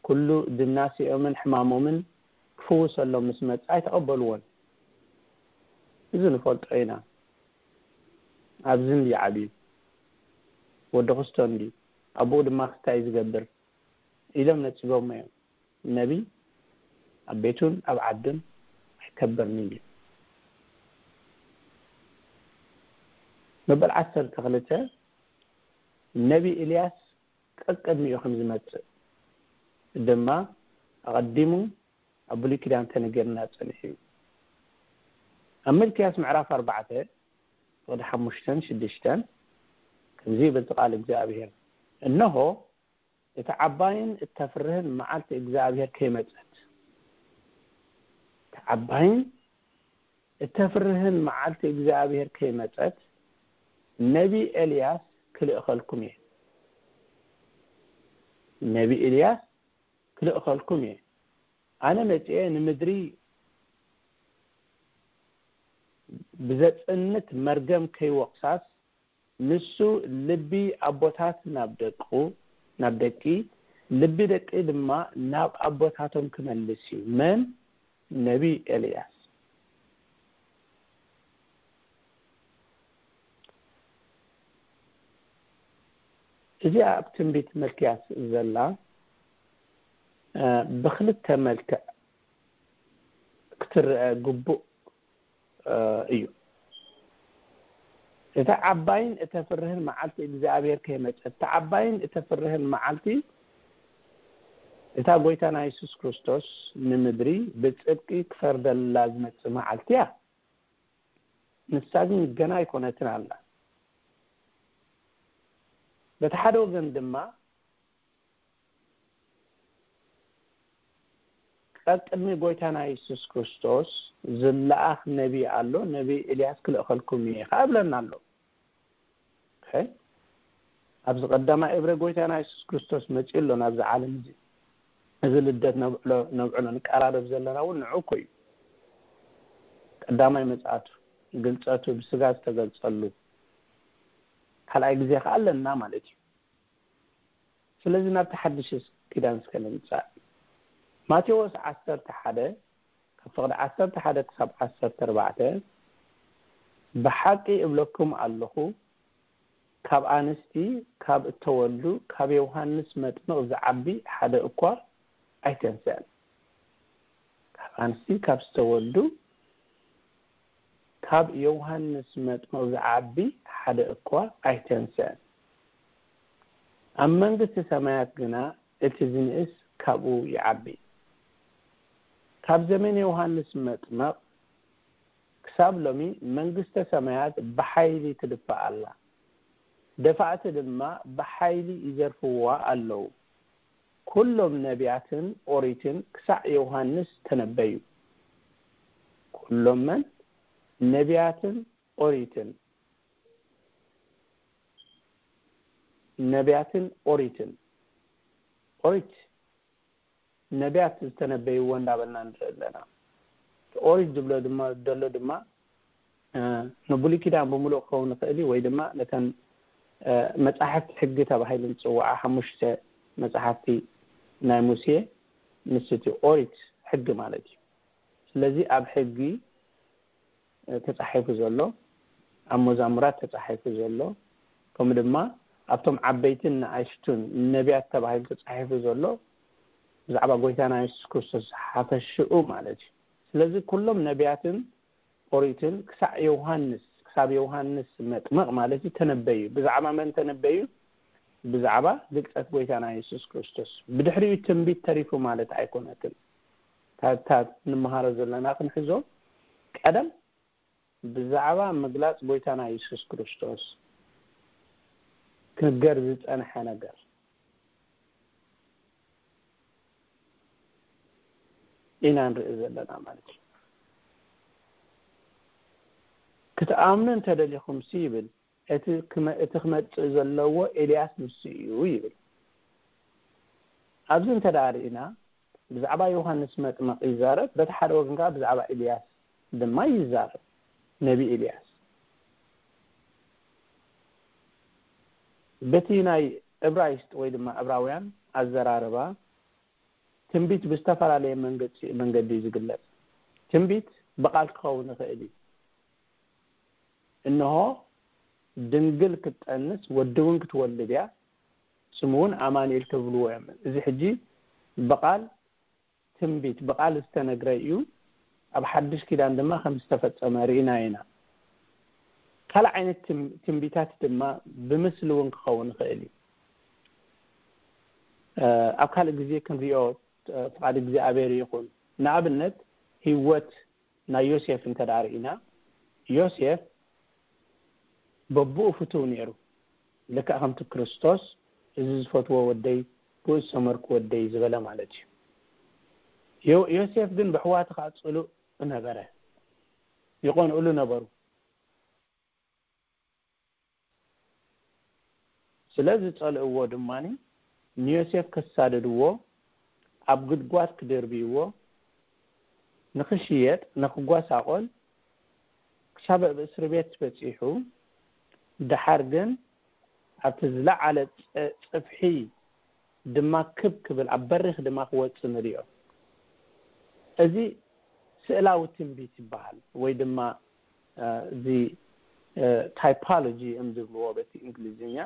ኩሉ ድምናሴኦምን ሕማሞምን ክፍውሰሎም ምስ መጽ ኣይተቐበልዎን። እዚ ንፈልጦ ኢና። ኣብዚ እንዲ ዓብዩ ወዲ ክስቶ እንዲ ኣቦኡ ድማ ክስታይ ዝገብር ኢሎም ነጺጎሞ እዮም። ነቢ ኣብ ቤቱን ኣብ ዓዱን ኣይከብርን እዩ። መበል ዓሰርተ ክልተ፣ ነቢ ኤልያስ ቀቅድሚኡ ከም ዝመጽእ ድማ ኣቐዲሙ ኣብ ብሉይ ኪዳን ተነገርና ጸኒሑ እዩ። ኣብ ሚልክያስ ምዕራፍ ኣርባዕተ ፍቕዲ ሓሙሽተን ሽዱሽተን ከምዚ ይብል ቃል እግዚኣብሔር፣ "እንሆ እቲ ዓባይን እተፍርህን መዓልቲ እግዚኣብሔር ከይመጸት፣ እቲ ዓባይን እተፍርህን መዓልቲ እግዚኣብሔር ከይመጸት፣ ነቢ ኤልያስ ክልእኸልኩም እየ፣ ነቢ ኤልያስ ክልእኸልኩም እየ። ኣነ መጺኤ ንምድሪ ብዘጽንት መርገም ከይወቕሳስ፣ ንሱ ልቢ ኣቦታት ናብ ደቁ፣ ናብ ደቂ፣ ልቢ ደቂ ድማ ናብ ኣቦታቶም ክመልስ እዩ።" መን? ነቢ ኤልያስ። እዚኣ ኣብ ትንቢት መልክያስ ዘላ፣ እ፣ ብኽልተ መልክዕ ክትረአ ግቡእ፣ እ፣ እዩ። እታ ዓባይን እተፍርህን መዓልቲ እግዚኣብሔር ከይመጸት፣ እታ ዓባይን እተፍርህን መዓልቲ፣ እታ ጎይታና የሱስ ክርስቶስ ንምድሪ ብጽድቂ ክፈርደላ ዝመጽእ መዓልቲ እያ። ንሳ ግን ገና ኣይኮነትን ኣላ። በቲ ሓደ ወገን ድማ፣ ቀቅድሚ ጎይታና የሱስ ክርስቶስ ዝለኣኽ ነቢ ኣሎ፣ ነቢ ኤልያስ ክልእኸልኩም እየ ኸዓ እብለና ኣሎ። ኦኬ? ኣብዚ ቀዳማይ እብረ ጎይታና የሱስ ክርስቶስ መጺኡ ኣሎ ናብዚ ዓለም እዚ። እዚ ልደት ነብዕሎ፣ ነብዕሎ፣ ንቀራረብ ዘለና እውን ንዑ እኮ እዩ። ቀዳማይ ምጽኣቱ፣ ግልጸቱ፣ ብስጋ ዝተገልጸሉ፣ ካልኣይ ግዜ ኸዓ ኣለና ማለት እዩ። ስለዚ ናብቲ ሓድሽ ኪዳን እስከ ንምጻእ። ማቴዎስ ዓሰርተ ሓደ፣ ካብ ፍቕዲ ዓሰርተ ሓደ ክሳብ ዓሰርተ ኣርባዕተ፣ "ብሓቂ እብለኩም ኣለኹ፣ ካብ ኣንስቲ ካብ እተወልዱ፣ ካብ ዮሃንስ መጥምቕ ዝዓቢ ሓደ እኳ ኣይተንስአን።" ካብ ኣንስቲ ካብ ዝተወልዱ፣ ካብ ዮሃንስ መጥምቕ ዝዓቢ ሓደ እኳ ኣይተንስአን። ኣብ መንግስቲ ሰማያት ግና እቲ ዝንእስ ካብኡ ይዓቢ። ካብ ዘመን ዮሃንስ መጥምቕ ክሳብ ሎሚ መንግስተ ሰማያት ብሓይሊ ትድፋእ ኣላ። ደፋእቲ ድማ ብሓይሊ ይዘርፍዋ ኣለዉ። ኩሎም ነቢያትን ኦሪትን ክሳዕ ዮሃንስ ተነበዩ። ኩሎም መን? ነቢያትን ኦሪትን። ነቢያትን ኦሪትን። ኦሪት ነቢያት ዝተነበይዎ እንዳበልና ንርኢ ኣለና። ኦሪት ዝብሎ ድማ፣ ዘሎ ድማ፣ እ፣ ንብሉይ ኪዳን ብምሉእ ክኸውን ይኽእል እዩ፣ ወይ ድማ ነተን፣ እ፣ መጻሕፍቲ ሕጊ ተባሂለን ዝጽውዓ ሓሙሽተ መጻሕፍቲ ናይ ሙሴ፣ ንሱ እቲ ኦሪት ሕጊ ማለት እዩ። ስለዚ ኣብ ሕጊ፣ እ፣ ተጻሒፉ ዘሎ፣ ኣብ መዛሙራት ተጻሒፉ ዘሎ፣ ከምኡ ድማ ኣብቶም ዓበይትን ንኣሽቱን ነቢያት ተባሂሉ ተጻሒፉ ዘሎ፣ ብዛዕባ ጎይታና የሱስ ክርስቶስ ሓፈሽኡ ማለት እዩ። ስለዚ ኩሎም ነቢያትን ኦሪትን ክሳዕ ዮሃንስ፣ ክሳብ ዮሃንስ መጥምቕ ማለት እዩ፣ ተነበዩ። ብዛዕባ መን ተነበዩ? ብዛዕባ ግልጸት ጎይታና የሱስ ክርስቶስ። ብድሕሪኡ ትንቢት ተሪፉ ማለት ኣይኮነትን። እታ፣ እታ ንመሃሮ ዘለና ክንሕዞ፣ ቀደም ብዛዕባ ምግላጽ ጎይታና የሱስ ክርስቶስ ክንገር ዝጸንሐ ነገር ኢና ንርኢ ዘለና ማለት እዩ። "ክትኣምኑ እንተደሊኹምሲ" ይብል፣ "እቲ ክመ-፣ እቲ ክመጽእ ዘለዎ ኤልያስ ንሱ እዩ" ይብል። ኣብዚ እንተ ደኣ ርኢና፣ ብዛዕባ ዮሃንስ መጥምቕ ይዛረብ፣ በቲ ሓደ ወገን ከኣ ብዛዕባ ኤልያስ ድማ ይዛረብ፣ ነቢ ኤልያስ። በቲ ናይ ዕብራይስጥ ወይ ድማ ዕብራውያን ኣዘራርባ፣ ትንቢት ብዝተፈላለየ መንገዲ፣ መንገዲ እዩ ዝግለጽ። ትንቢት ብቓል ክኸውን ይኽእል እዩ። "እንሆ ድንግል ክትጠንስ፣ ወዲ እውን ክትወልድ እያ፣ ስሙ እውን ኣማኑኤል ትብልዎ እዮም።" እዚ ሕጂ ብቓል ትንቢት ብቓል ዝተነግረ እዩ። ኣብ ሓድሽ ኪዳን ድማ ከም ዝተፈጸመ ርኢና ኢና። ካልእ ዓይነት ትም- ትንቢታት ድማ ብምስሊ እውን ክኸውን ይኽእል እዩ። ኣብ ካልእ ግዜ ክንሪኦ ፍቓድ እግዚኣብሔር ይኹን። ንኣብነት ህይወት ናይ ዮሴፍ እንተ ደኣ ርኢና፣ ዮሴፍ በብኡ ፍቱው ነይሩ። ልክዕ ከምቲ ክርስቶስ፣ "እዚ ዝፈትዎ ወደይ፣ ብኡ ዝሰመርኩ ወደይ" ዝበለ ማለት እዩ። ዮ- ዮሴፍ ግን ብሕዋቱ ከኣ ጽሉእ ነበረ። ይቐንኡሉ ነበሩ። ስለ ዝጸልእዎ ድማ ንዮሴፍ ከሳድድዎ፣ ኣብ ጉድጓድ ክድርብይዎ፣ ንኽሽየጥ፣ ንኽጓሳቖል፣ ክሳብ ኣብ እስሪ ቤት በጺሑ፣ ደሓር ግን ኣብቲ ዝለዓለ ጽ- ጽፍሒ ድማ ክብ ክብል፣ ኣብ በሪኽ ድማ ክወጽእ ንሪኦ። እዚ ስእላዊ ትንቢት ይበሃል፣ ወይ ድማ እዚ ታይፖሎጂ እዮም ዝብልዎ በቲ እንግሊዝኛ፣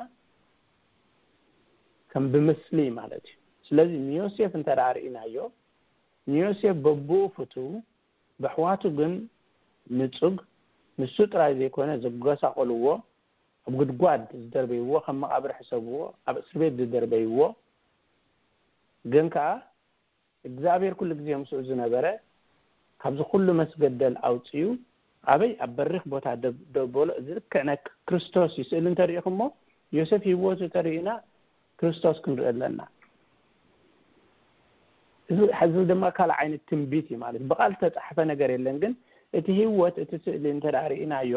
ከም ብምስሊ ማለት እዩ። ስለዚ ንዮሴፍ እንተ ደኣ ርኢናዮ፣ ንዮሴፍ በብኡ ፍቱው፣ ብኣሕዋቱ ግን ንጹግ፣ ንሱ ጥራይ ዘይኮነ ዘጓሳቖልዎ፣ ኣብ ጉድጓድ ዝደርበይዎ፣ ከም መቓብር ሕሰብዎ፣ ኣብ እስር ቤት ዝደርበይዎ፣ ግን ከኣ እግዚኣብሔር ኩሉ ግዜ ምስኡ ዝነበረ፣ ካብዚ ኩሉ መስገደል ኣውጺኡ ኣበይ ኣብ በሪኽ ቦታ ደብ- ደበሎ። እዚ ልክዕ ናይ ክርስቶስ እዩ። ስእሊ እንተሪኢኹሞ፣ ዮሴፍ ህይወቱ ተሪኢና ክርስቶስ ክንርኢ ኣለና። እዚ እዚ ድማ ካልእ ዓይነት ትንቢት እዩ ማለት፣ ብቓል ዝተጻሕፈ ነገር የለን፣ ግን እቲ ህይወት፣ እቲ ስእሊ እንተ ደኣ ርኢናዮ፣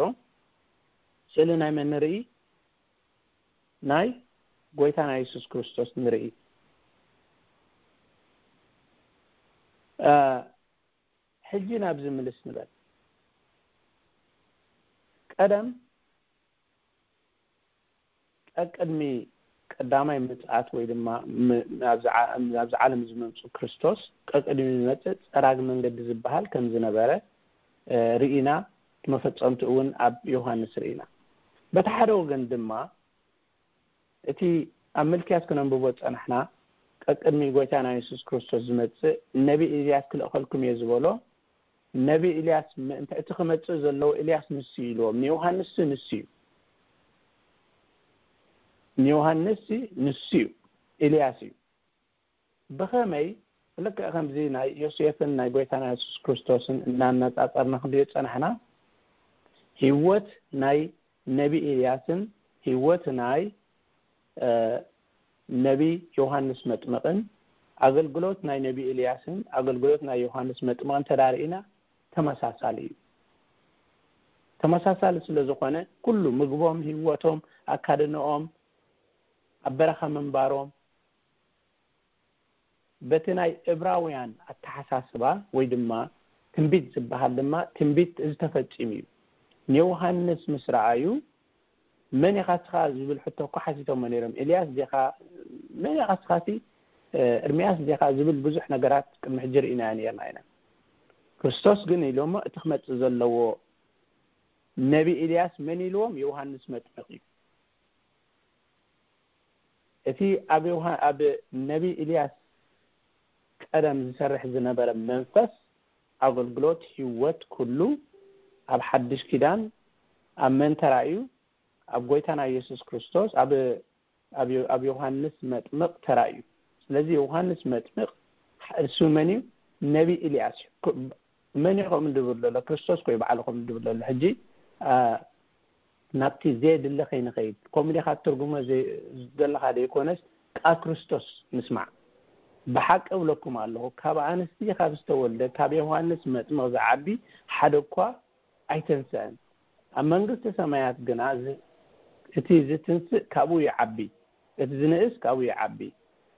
ስእሊ ናይ መን ንርኢ? ናይ ጎይታና የሱስ ክርስቶስ ንርኢ። ሕጂ ናብዚ ምልስ ንበል። ቀደም፣ ቀቅድሚ ቀዳማይ ምጽኣት ወይ ድማ ም- ናብዚ ዓ- ናብዚ ዓለም ዝመምጽእ ክርስቶስ፣ ቀቅድሚ ዝመጽእ ጸራጊ መንገዲ ዝበሃል ከም ዝነበረ ርኢና፣ መፈጸምቲ እውን ኣብ ዮሃንስ ርኢና። በቲ ሓደ ወገን ድማ እቲ ኣብ ምልክያስ ክነንብቦ ዝጸናሕና፣ ቀቅድሚ ጎይታና የሱስ ክርስቶስ ዝመጽእ ነቢ ኤልያስ ክልእኸልኩም እየ ዝበሎ፣ ነቢ ኤልያስ ምእንቲ እቲ ክመጽእ ዘለዎ ኤልያስ ንሱ እዩ ኢልዎም። ንዮሃንስ ንሱ እዩ። ንዮሃንስ ንሱ እዩ። ኤልያስ እዩ። ብኸመይ? ልክዕ ከምዚ ናይ ዮሴፍን ናይ ጎይታና የሱስ ክርስቶስን እናነጻጸርና ክንሪኦ ዝጸናሕና፣ ህይወት ናይ ነቢ ኤልያስን ህይወት ናይ ነቢ ዮሃንስ መጥምቕን ኣገልግሎት ናይ ነቢ ኤልያስን ኣገልግሎት ናይ ዮሃንስ መጥምቕን ተዳርኢና ተመሳሳሊ እዩ። ተመሳሳሊ ስለ ዝኾነ ኩሉ ምግቦም፣ ህይወቶም፣ ኣካድንኦም፣ ኣብ በረኻ ምንባሮም በቲ ናይ እብራውያን ኣተሓሳስባ ወይ ድማ ትንቢት ዝበሃል ድማ ትንቢት እዚ ተፈጺሙ እዩ። ንዮሃንስ ምስ ረኣዩ መን ኢኻ እስኻ ዝብል ሕቶ እኮ ሓቲቶሞ ነይሮም። ኤልያስ ዲኻ፣ መን ኢኻ እስኻሲ፣ ኤርምያስ ዲኻ ዝብል ብዙሕ ነገራት ቅድሚ ሕጂ ርኢናዮ ነይርና ኢና። ክርስቶስ ግን ኢሎሞ እቲ ክመጽእ ዘለዎ ነቢ ኤልያስ መን ኢልዎም? ዮሃንስ መጥምቕ እዩ። እቲ ኣብ ዮሃ- ኣብ ነቢ ኤልያስ ቀደም ዝሰርሕ ዝነበረ መንፈስ ኣገልግሎት ህይወት ኩሉ ኣብ ሓድሽ ኪዳን ኣብ መን ተራእዩ? ኣብ ጎይታና ኢየሱስ ክርስቶስ ኣብ ኣብ ዮ- ኣብ ዮሃንስ መጥምቕ ተራእዩ። ስለዚ ዮሃንስ መጥምቕ እሱ መን እዩ? ነቢ ኤልያስ እዩ። ኮ- መን እዩ ከምኡ ዝብል ዘሎ? ክርስቶስ ኮዩ ባዕሉ ከምኡ ዝብል ዘሎ። ሕጂ ኣ፣ ናብቲ ዘየድሊ ከይንኸይድ፣ ከምኡ ዲኻ ትርጉሞ ዘይ- ዘለኻ ዘይኮነስ ቃል ክርስቶስ ንስማዕ። ብሓቂ እብለኩም ኣለኹ፣ ካብ ኣንስቲ ካብ ዝተወልደ ካብ ዮሃንስ መጥምቕ ዝዓቢ ሓደ እኳ ኣይተንስአን። ኣብ መንግስቲ ሰማያት ግና ዝ- እቲ ዝትንስእ ካብኡ ይዓቢ፣ እቲ ዝንእስ ካብኡ ይዓቢ።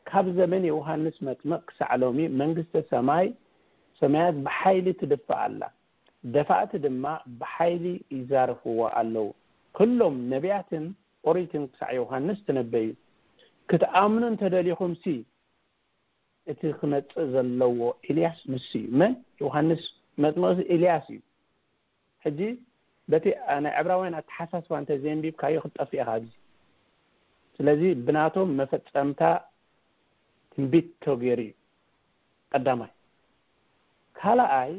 ካብ ዘመን ዮሃንስ መጥምቕ ክሳዕ ሎሚ መንግስተ ሰማይ ሰማያት ብሓይሊ ትድፋእ ኣላ፣ ደፋእቲ ድማ ብሓይሊ ይዛርፍዋ ኣለዉ። ኩሎም ነቢያትን ኦሪትን ክሳዕ ዮሃንስ ተነበዩ። ክትኣምኑ እንተደሊኹምሲ እቲ ክመጽእ ዘለዎ ኤልያስ ንሱ እዩ። መን? ዮሃንስ መጥምቕ ኤልያስ እዩ። ሕጂ በቲ ናይ ዕብራውያን ኣተሓሳስባ እንተ ዘየንቢብካዮ ክትጠፍእ ኢኻ ኣብዚ። ስለዚ ብናቶም መፈጸምታ ትንቢት ተገይሩ እዩ። ቀዳማይ ካልኣይ፣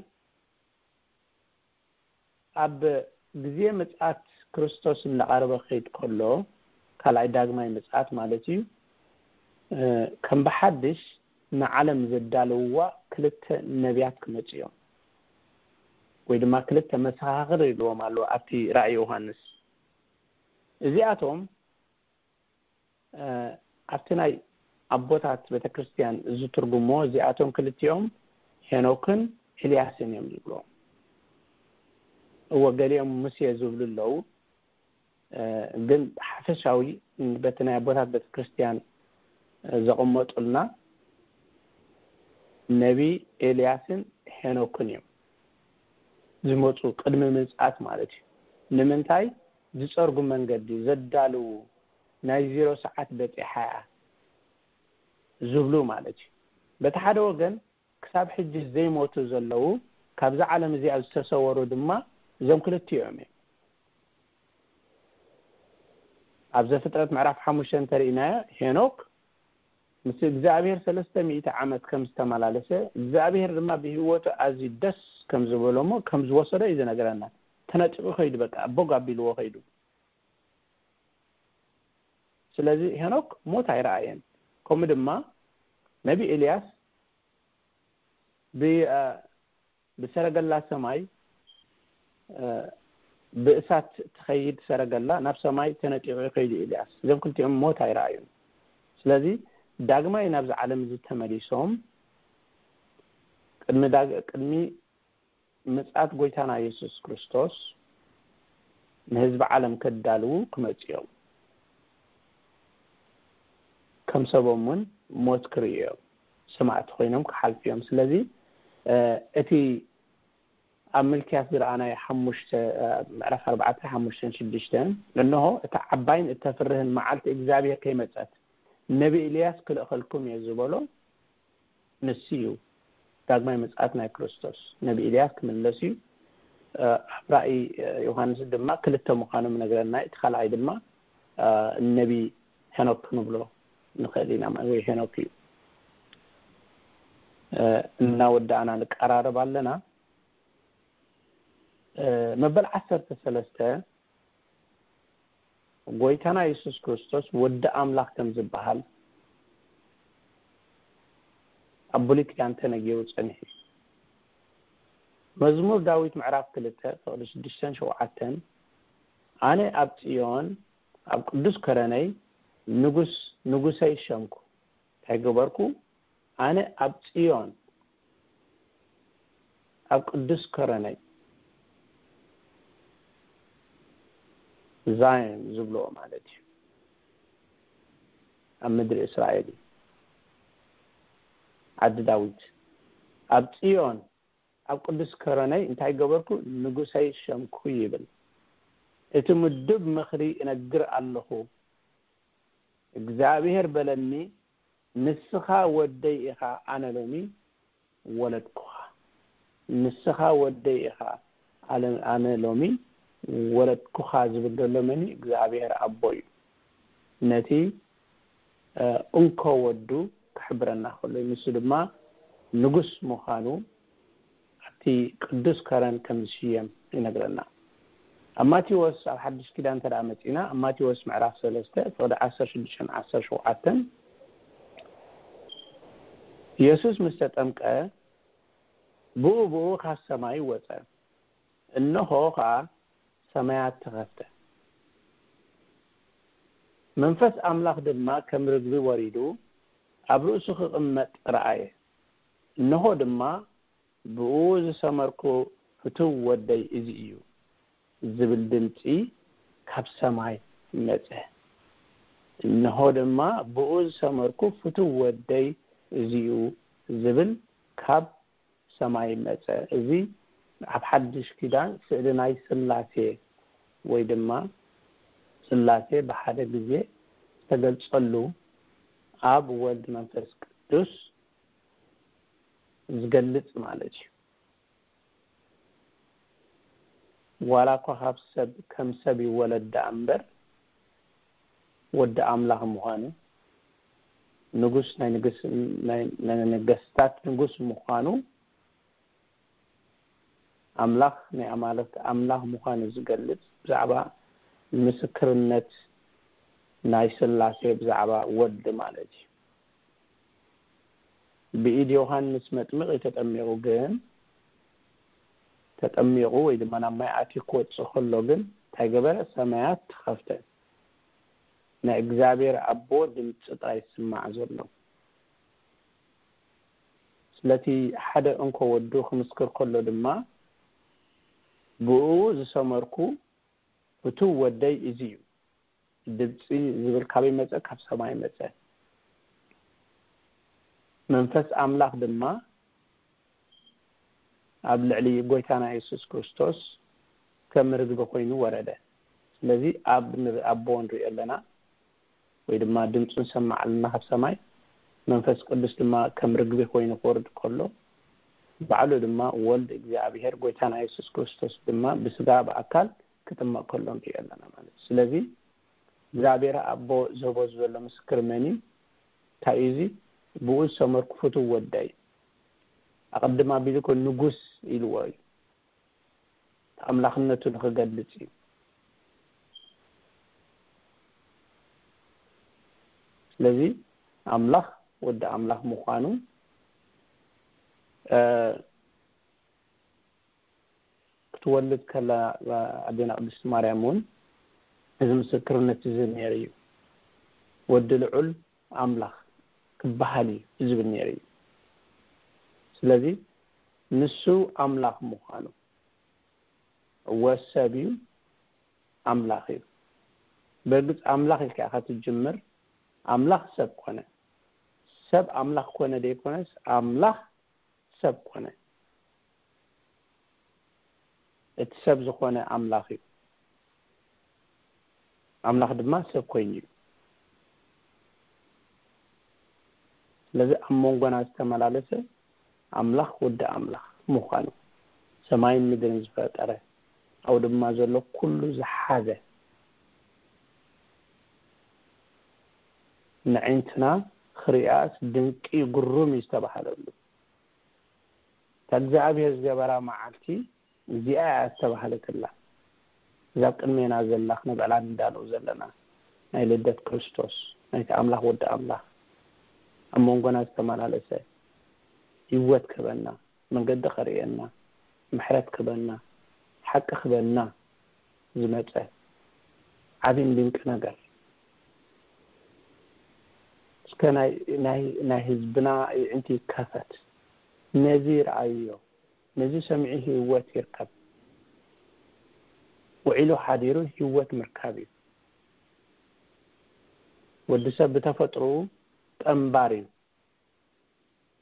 ኣብ ግዜ ምጽኣት ክርስቶስ እናቐረበ ክኸይድ ከሎ፣ ካልኣይ ዳግማይ ምጽኣት ማለት እዩ፣ እ፣ ከም ብሓድሽ ንዓለም ዘዳለውዋ ክልተ ነቢያት ክመጹ እዮም፣ ወይ ድማ ክልተ መሰኻኽር ኢልዎም ኣሎ ኣብቲ ራእይ ዮሃንስ። እዚኣቶም እ፣ ኣብቲ ናይ ኣቦታት ቤተክርስትያን ዝትርጉሞ፣ እዚኣቶም ክልቲኦም ሄኖክን ኤልያስን እዮም ዝብልዎም። እወ፣ ገሊኦም ሙሴ ዝብሉ ኣለዉ። እ፣ ግን ሓፈሻዊ በቲ ናይ ኣቦታት ቤተክርስትያን ዘቐመጡልና ነቢ ኤልያስን ሄኖክን እዮም ዝመጹ፣ ቅድሚ ምጽኣት ማለት እዩ። ንምንታይ? ዝጸርጉ መንገዲ ዘዳልዉ፣ ናይ ዜሮ ሰዓት በጺሓ እያ ዝብሉ ማለት እዩ። በቲ ሓደ ወገን፣ ክሳብ ሕጂ ዘይሞቱ ዘለዉ፣ ካብዛ ዓለም እዚኣ ዝተሰወሩ ድማ እዞም ክልቲኦም እዮም። ኣብ ዘፍጥረት ምዕራፍ ሓሙሽተ እንተሪእናዮ፣ ሄኖክ ምስ እግዚኣብሔር ሰለስተ ሚእቲ ዓመት ከም ዝተመላለሰ፣ እግዚኣብሔር ድማ ብህይወቱ ኣዝዩ ደስ ከም ዝበሎ እሞ ከም ዝወሰዶ እዩ ዝነግረና። ተነጢቑ ኸይዱ፣ በቃ፣ ቦግ ኣቢልዎ ኸይዱ። ስለዚ ሄኖክ ሞት ኣይረኣየን። ከምኡ ድማ ነቢ ኤልያስ ብ-፣ እ፣ ብሰረገላ ሰማይ፣ እ፣ ብእሳት ትኸይድ ሰረገላ ናብ ሰማይ ተነጢቑ ይኸይዱ ኤልያስ። እዞም ክልቲኦም ሞት ኣይረኣዩን። ስለዚ ዳግማይ ናብዚ ዓለም እዚ ተመሊሶም ቅድሚ ዳግ-፣ ቅድሚ ምጽኣት ጎይታና የሱስ ክርስቶስ ንህዝቢ ዓለም ከዳልዉ ክመጹ እዮም። ከም ሰቦም እውን ሞት ክርእዩ እዮም። ሰማዕቲ ኮይኖም ክሓልፉ እዮም። ስለዚ፣ እ፣ እቲ ኣብ ምልክያስ ዝረኣናዮ ሓሙሽተ፣ እ፣ ምዕራፍ ኣርባዕተ፣ ሓሙሽተን ሽዱሽተን፣ እንሆ፣ እታ ዓባይን እተፍርህን መዓልቲ እግዚኣብሔር ከይመጸት፣ ነቢ ኤልያስ ክልእኸልኩም እየ ዝበሎ ንሱ እዩ። ዳግማይ ምጽኣት ናይ ክርስቶስ፣ ነቢ ኤልያስ ክምለስ እዩ። እ፣ ኣብ ራእይ፣ እ፣ ዮሃንስ ድማ ክልተ ምዃኖም ይነግረና። እቲ ካልኣይ ድማ፣ እ፣ ነቢ ሄኖክ ክንብሎ ንኽእል ኢና፣ ወይ ሄኖክ እዩ። እ፣ እናወዳእና ንቀራረብ ኣለና። እ፣ መበል ዓሰርተ ሰለስተ ጎይታና የሱስ ክርስቶስ ወዲ ኣምላኽ ከም ዝበሃል ኣብ ብሉይ ኪዳን ተነጊሩ ጸኒሑ እዩ። መዝሙር ዳዊት ምዕራፍ ክልተ ፍቕዲ ሽዱሽተን ሸውዓተን፣ ኣነ ኣብ ጽዮን ኣብ ቅዱስ ከረነይ ንጉስ፣ ንጉሰይ ሸምኩ። እንታይ ገበርኩ? ኣነ ኣብ ጽዮን ኣብ ቅዱስ ከረነይ፣ ዛዮን ዝብልዎ ማለት እዩ፣ ኣብ ምድሪ እስራኤል እዩ፣ ዓዲ ዳዊት፣ ኣብ ጽዮን ኣብ ቅዱስ ከረነይ እንታይ ገበርኩ? ንጉሰይ ሸምኩ ይብል። እቲ ምዱብ ምኽሪ እነግር ኣለኹ። እግዚኣብሔር በለኒ፣ ንስኻ ወደይ ኢኻ፣ ኣነ ሎሚ ወለድኩኻ። ንስኻ ወደይ ኢኻ፣ ኣለ-፣ ኣነ ሎሚ ወለድኩኻ ዝብል ዘሎ መን እዩ? እግዚኣብሔር ኣቦ እዩ። ነቲ፣ እ፣ እንኮ ወዱ ክሕብረና ከሎ እዩ። ንሱ ድማ ንጉስ ምዃኑ ኣብቲ ቅዱስ ከረን ከም ዝሽየም ይነግረና። ኣብ ማቴዎስ፣ ኣብ ሓድሽ ኪዳን እንተ ደኣ መጺና፣ ኣብ ማቴዎስ ምዕራፍ ሰለስተ ፍቕዲ ዓሰርተ ሽዱሽተን ዓሰርተ ሸውዓተን፣ የሱስ ምስ ተጠምቀ፣ ብኡ ብኡ ካብ ሰማይ ወጸ። እንሆ ኸኣ ሰማያት ተኸፍተ። መንፈስ ኣምላኽ ድማ ከም ርግቢ ወሪዱ ኣብ ርእሱ ክቕመጥ ረኣየ። እንሆ ድማ፣ ብኡ ዝሰመርኩ ፍቱው ወደይ እዚ እዩ ዝብል ድምጺ ካብ ሰማይ መጸ። እንሆ ድማ፣ ብኡ ዝሰመርኩ ፍቱው ወደይ እዚ እዩ ዝብል ካብ ሰማይ መጸ። እዚ ኣብ ሓድሽ ኪዳን ስእሊ ናይ ስላሴ ወይ ድማ ስላሴ ብሓደ ግዜ ዝተገልጸሉ ኣብ ወልድ መንፈስ ቅዱስ ዝገልጽ ማለት እዩ። ዋላ እኳ ካብ ሰብ፣ ከም ሰብ ይወለድ ደኣ እምበር፣ ወዲ ኣምላኽ ምዃኑ፣ ንጉስ ናይ ንግስ-፣ ናይ፣ ናይ ነገስታት ንጉስ ምዃኑ ኣምላኽ ናይ ኣማልኽቲ ኣምላኽ ምዃኑ ዝገልጽ ብዛዕባ ምስክርነት ናይ ስላሴ ብዛዕባ ወልድ ማለት እዩ። ብኢድ ዮሃንስ መጥምቕ እዩ ተጠሚቑ፣ ግን ተጠሚቑ ወይ ድማ ናብ ማይ ኣትዩ ክወጽእ ከሎ ግን እንታይ ገበረ? ሰማያት ተኸፍተ። ናይ እግዚኣብሔር ኣቦ ድምፂ ጥራይ ይስማዕ ዘሎ። ስለቲ ሓደ እንኮ ወዱ ክምስክር ከሎ ድማ ብኡ ዝሰመርኩ ፍቱው ወደይ እዚ እዩ። ድምፂ ዝብል ካበይ መፀ? ካብ ሰማይ መፀ። መንፈስ ኣምላኽ ድማ ኣብ ልዕሊ ጎይታና የሱስ ክርስቶስ ከም ርግቢ ኮይኑ ወረደ። ስለዚ ኣብ ንርኢ ኣቦ ንሪኦ ኣለና፣ ወይ ድማ ድምፁ ንሰማዕ ኣለና ካብ ሰማይ። መንፈስ ቅዱስ ድማ ከም ርግቢ ኮይኑ ክወርድ ከሎ፣ ባዕሉ ድማ ወልድ እግዚኣብሔር ጎይታና የሱስ ክርስቶስ ድማ ብስጋ ብኣካል ክጥመቕ ከሎ ንሪኦ ኣለና ማለት እዩ። ስለዚ እግዚኣብሔር ኣቦ ዝህቦ ዘሎ ምስክር መን እዩ? እንታይ እዩ እዚ? ብኡ ዝሰመርኩ ፍቱው ወደይ። ኣቐድም ኣቢሉ እኮ ንጉስ ኢልዎ እዩ። ኣምላኽነቱ ንኽገልጽ እዩ። ስለዚ ኣምላኽ ወዲ ኣምላኽ ምዃኑ፣ እ፣ ክትወልድ ከላ፣ እ፣ ኣዴና ቅድስቲ ማርያም እውን እዚ ምስክርነት እዚ ነይሩ እዩ። ወዲ ልዑል ኣምላኽ ክበሃል እዩ ዝብል ነይሩ እዩ። ስለዚ ንሱ ኣምላኽ ምዃኑ፣ እወ ሰብ እዩ፣ ኣምላኽ እዩ። በርግጽ ኣምላኽ ኢልካ ኢኻ ትጅምር፣ ኣምላኽ ሰብ ኮነ። ሰብ ኣምላኽ ኮነ ደይኮነስ፣ ኣምላኽ ሰብ ኮነ። እቲ ሰብ ዝኾነ ኣምላኽ እዩ። ኣምላኽ ድማ ሰብ ኮይኑ እዩ። ስለዚ ኣብ መንጎና ዝተመላለሰ ኣምላኽ ወዲ ኣምላኽ ምዃኑ፣ ሰማይን ምድርን ዝፈጠረ፣ ኣብኡ ድማ ዘሎ ኩሉ ዝሓዘ፣ ንዕንትና ክሪኣስ ድንቂ ግሩም እዩ ዝተባህለሉ። እታ እግዚኣብሔር ዝገበራ መዓልቲ እዚኣ እያ ዝተባህለትላ። እዛ ኣብ ቅድሜና ዘላ ክነብዕላ ንዳሎ ዘለና ናይ ልደት ክርስቶስ፣ ናይቲ ኣምላኽ ወዲ ኣምላኽ ኣብ መንጎና ዝተመላለሰ፣ ህይወት ክህበና፣ መንገዲ ከርእየና፣ ምሕረት ክህበና፣ ሓቂ ክህበና ዝመጸ ዓብይን ድንቂ ነገር። እስከ ናይ፣ ናይ፣ ናይ ህዝብና ኣዒንቲ ይከፈት። ነዚ ይርኣይዮ፣ ነዚ ሰሚዑ ህይወት ይርከብ። ውዒሉ ሓዲሩ ህይወት ምርካብ እዩ። ወዲ ሰብ ብተፈጥሮኡ ጠንባር እዩ።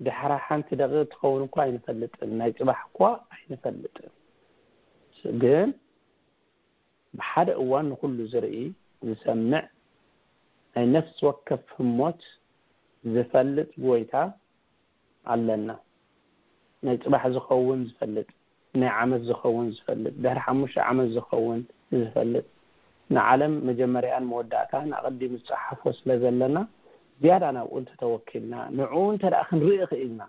ድሕራ ሓንቲ ደቂቕ ትኸውን እኳ ኣይንፈልጥን፣ ናይ ጽባሕ እኳ ኣይንፈልጥን። ግን ብሓደ እዋን ንኹሉ ዝርኢ፣ ዝሰምዕ፣ ናይ ነፍሲ ወከፍ ህሞት ዝፈልጥ ጎይታ ኣለና። ናይ ጽባሕ ዝኸውን ዝፈልጥ፣ ናይ ዓመት ዝኸውን ዝፈልጥ፣ ድሕሪ ሓሙሽተ ዓመት ዝኸውን ዝፈልጥ፣ ንዓለም መጀመርያን መወዳእታን ኣቐዲሙ ዝጸሓፎ ስለ ዘለና፣ ዝያዳ ናብኡ እንተተወኪልና፣ ንዕኡ እንተ ደኣ ክንርኢ ክኢልና፣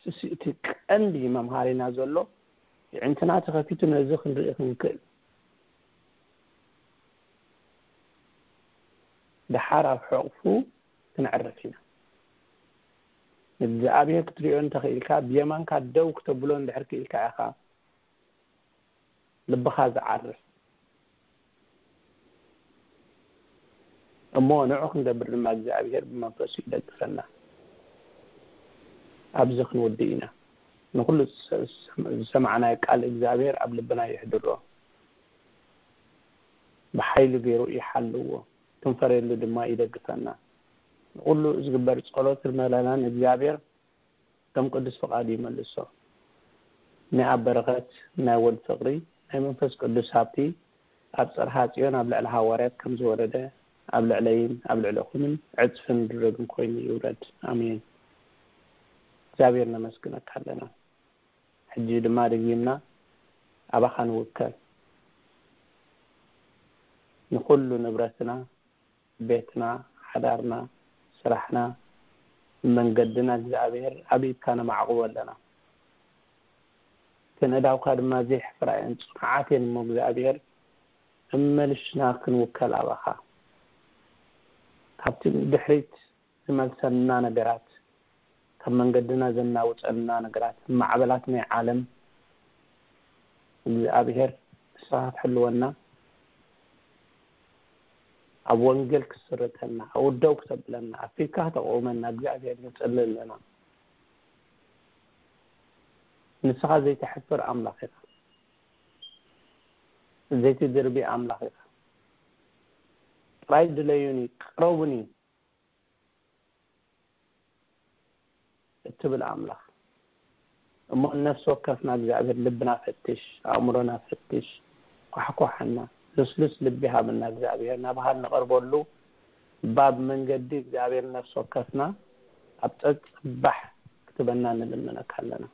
እሱ እቲ ቀንዲ መምሃሪና ዘሎ፣ የዕንትና ተኸፊቱ ነዚ ክንርኢ ክንክእል፣ ደሓር ኣብ ሕቕፉ ክንዕርፍ ኢና። ንእግዚኣብሔር ክትሪኦ እንተኽኢልካ፣ ብየማንካ ደው ክተብሎ እንድሕር ክኢልካ ኢኻ ልብኻ ዝዓርፍ። እሞ ንዑ ክንገብር ድማ እግዚኣብሔር ብመንፈሱ ይደግፈና። ኣብዚ ክንውድእ ኢና። ንኹሉ ዝሰ-፣ ዝሰማዕናዮ ቃል እግዚኣብሔር ኣብ ልብና የሕድሮ። ብሓይሊ ገይሩ ይሓልዎ፣ ክንፈርየሉ ድማ ይደግፈና። ንኹሉ ዝግበር ጸሎት ምህለላን እግዚኣብሔር ከም ቅዱስ ፍቓዱ ይመልሶ። ናይ ኣብ በረኸት፣ ናይ ወልድ ፍቕሪ፣ ናይ መንፈስ ቅዱስ ሃብቲ ኣብ ጽርሃ ጽዮን ኣብ ልዕሊ ሃዋርያት ከም ዝወረደ ኣብ ልዕለይን ኣብ ልዕለኹምን ዕጽፍን ድርብን ኮይኑ ይውረድ። ኣሜን። እግዚኣብሔር ነመስግነካ ኣለና። ሕጂ ድማ ደጊምና ኣባኻ ንውከል። ንኹሉ ንብረትና፣ ቤትና፣ ሓዳርና፣ ስራሕና፣ መንገድና እግዚኣብሔር ኣብ ኢድካ ነማዕቁቦ ኣለና። ክነዳውካ ድማ ዘይሕፍራ እየን፣ ጽኑዓት እየን እሞ እግዚኣብሔር እመልሽና ክንውከል ኣባኻ። ካብቲ ድሕሪት ዝመልሰና ነገራት፣ ካብ መንገድና ዘናውፀና ነገራት፣ ማዕበላት ናይ ዓለም እግዚኣብሔር ንስኻ ክትሕልወና፣ ኣብ ወንጌል ክትስርተና፣ ኣብ ደው ክተብለና፣ ኣብ ፊትካ ክተቆመና እግዚኣብሔር ንጽሊ ኣለና። ንስኻ ዘይትሕፍር ኣምላኽ ኢኻ። ዘይትድርቢ ኣምላኽ ኢኻ። ጥራይ ድለዩኒ፣ ቅረቡኒ እትብል ኣምላኽ እሞ፣ ነፍሲ ወከፍና እግዚኣብሔር ልብና ፈትሽ፣ ኣእምሮና ፈትሽ፣ ኳሕኳሓና፣ ልስሉስ ልቢ ሃበና እግዚኣብሔር። ናባኻ ንቐርበሉ ባብ መንገዲ እግዚኣብሔር ነፍሲ ወከፍና ኣብ ጸጽባሕ ክትበና ንልምነካ ኣለና።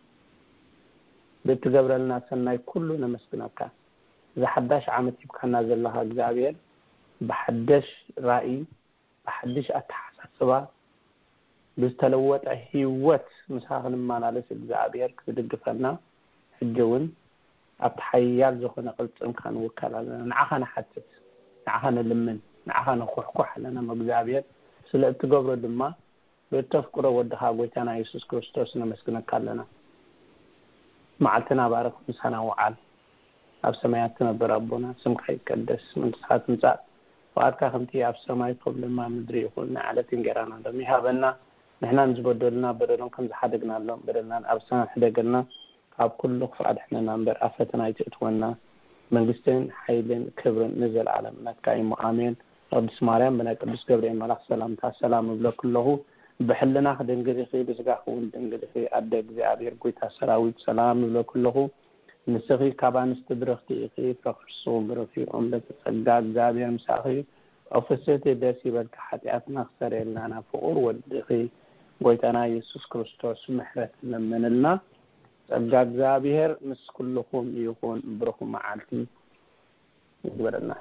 ብእትገብረልና ሰናይ ኩሉ ነመስግነካ። እዚ ሓዳሽ ዓመት ሂብካና ዘለኻ እግዚኣብሔር ብሓደሽ ራእይ፣ ብሓድሽ ኣተሓሳስባ፣ ብዝተለወጠ ህይወት ምሳኻ ክንመላለስ እግዚኣብሔር ክትድግፈና፣ ሕጂ እውን ኣብቲ ሓያል ዝኾነ ቅልጽምካ ንውከል ኣለና። ንዓኻ ንሓትት፣ ንዓኻ ንልምን፣ ንዓኻ ንኹሕኩሕ ኣለና። እሞ እግዚኣብሔር ስለ እትገብሮ ድማ ብእተፍቅሮ ወድኻ ጎይታና የሱስ ክርስቶስ ነመስግነካ ኣለና። መዓልትና ባርኽ፣ ምሳና ውዓል። ኣብ ሰማያት ትነብር ኣቦና፣ ስምካ ይቀደስ፣ መንግስትኻ ትምጻእ፣ ፍቓድካ ከምቲ ኣብ ሰማይ ከምኡ ድማ ኣብ ምድሪ ይኹን። ናይ ዕለት እንጌራና ሎሚ ሃበና። ንሕና ንዝበደሉና በደሎም ከም ዝሓደግናሎም በደልናን ኣብ ሰማይ ሕደገልና፣ ካብ ኩሉ ክፉእ ኣድሕነና እምበር ኣብ ፈተና ኣይትእትወና። መንግስትን ሓይልን ክብርን ንዘለኣለም ናትካ እዩ። ኣሜን። ቅድስት ማርያም ብናይ ቅዱስ ገብርኤል መልኣኽ ሰላምታ ሰላም እብለኪ ኣለኹ። ብሕልናኺ ድንግል ኢኺ፣ ብስጋኺ እውን ድንግል ኢኺ። ኣደ እግዚኣብሔር፣ ጎይታ ሰራዊት፣ ሰላም እብለኪ ኣለኹ። ንስኺ ካብ ኣንስቲ ብርኽቲ ኢኺ፣ ፍረ ከርስኺ እውን ብሩኽ እዩ። እመቤተ ጸጋ፣ እግዚኣብሔር ምሳኺ እዩ። ኦ ፍስሕቲ፣ ደስ ይበልኪ፣ ሓጢኣትና ክሰርየልና ናብ ፍቑር ወድኺ ጎይታና የሱስ ክርስቶስ ምሕረት ለምንልና። ጸጋ እግዚኣብሔር ምስ ኩልኹም ይኹን። ብሩኽ መዓልቲ ይግበረልና።